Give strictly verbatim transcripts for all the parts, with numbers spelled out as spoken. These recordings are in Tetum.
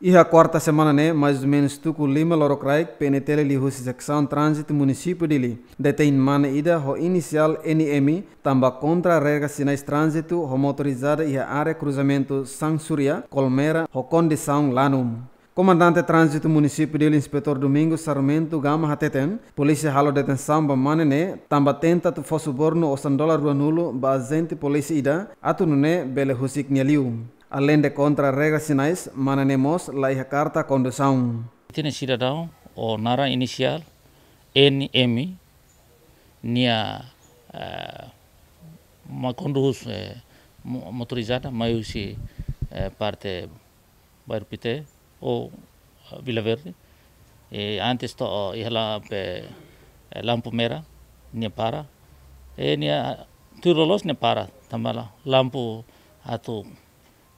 Iha kuarta semana ne'e, mais ou menus tuku lima lorokraik, P N T L liuhusi Seksaun Tránzitu Munisípiu Dili detein mane ida ho inisiál N M tanba kontra regra sinais tránzitu ho motorizada iha área kruzamentu Sansuria, Colmera, ho kondisaun lanu. Komandante Tránzitu Munisípiu Dili, Inspetór Domingos Sarmento Gama hateten, polísia halo detensaun ba mane ne'e tanba tenta atu fó subornu osan dolar ruanulu ba ajente polísia ida, atu nune'e bele husik nia liu. Aleinde kontra regra sinais, mane ne'e mós la iha karta kondusaun. Ita-nia sidadaun ho naran inisiál N M, nia, eh, mai kondús, eh, mo-, motorizada, mai husi, eh, parte Bairru Pité ou, eh, Vila Verde. I antes to'o iha la pe, eh, lampu merah, nia para. I nia tuir loloos nia para, tanba la lampu atu,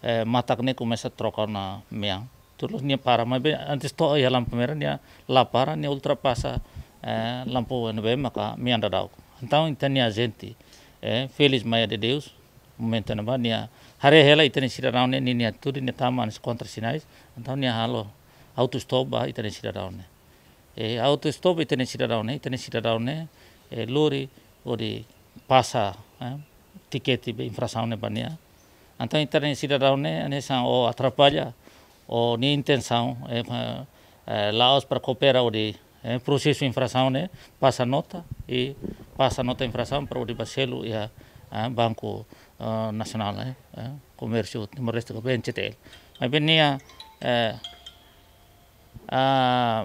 eh, matak ne'e komesa troka ona mean. Tuir loloos nia para, maibé antes to'o iha lampu merah nia la para, nia ultrapasa, eh, lampu N B M maka mean daudauk. Entaun ita-nia ajente, eh, Félix Maia de Deus, momentu ne'ebá nia haree hela ita-nia sidadaun ne'e, ninia atitude ne'e tama hanesan kontra sinais, entaun nia halo auto stop ba ita-nia sidadaun ne'e. Eh, auto stop ita-nia sidadaun ne'e, ita-nia sidadaun ne'e, eh, lori hodi pasa, eh, tikete be infrasaun ne'e ba nia. Entaun ita-nia sidadaun ne'e, hanesan o atrapalla, o nia intensaun, eh, pa-, eh, la'ós para koopera hodi, eh, prosesu infrasaun ne'e, pasa nota, i pasa nota infrasaun para hodi ba selu iha, eh, Banku, eh, Nasionál, eh, eh, Komérsiu Timor-Leste, ka B N C T L. Maibé nia, eh, ah,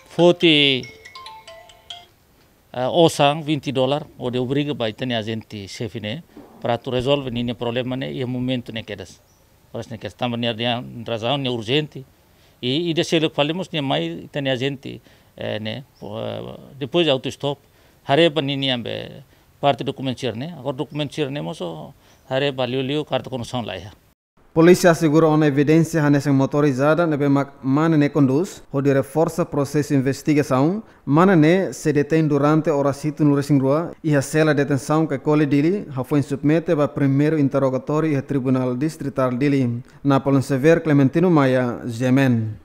foti, eh, osan vinte dolar, hodi obriga ba ita-nia ajente xefe ne'e, para atu rezolve ninia problema ne'e iha momentu ne'e kedas. Oras ne'e kedas, tanba nia, nia razaun ne'e urjente. I, i ida seluk fali mós nia mai ita-nia ajente, eh, ne'e, po-, eh, depois de auto stop, haree ba ninia be parte dokumentu sira ne'e, agora dokumentu sira ne'e mós o haree ba liuliu karta kondusaun la iha. Polísia asegura ona evidénsia hanesan motorizada ne'ebé mak mane ne'e kondús, hodi reforsa prosesu investigasaun. Mane ne'e sei detein durante oras hitunulu resin rua iha sela detensaun Caicoli Dili, hafoin submete ba primeiru interrogatóriu iha Tribunál Distritál Dili. Napoleon Xavier, Clementino Maia, G M N.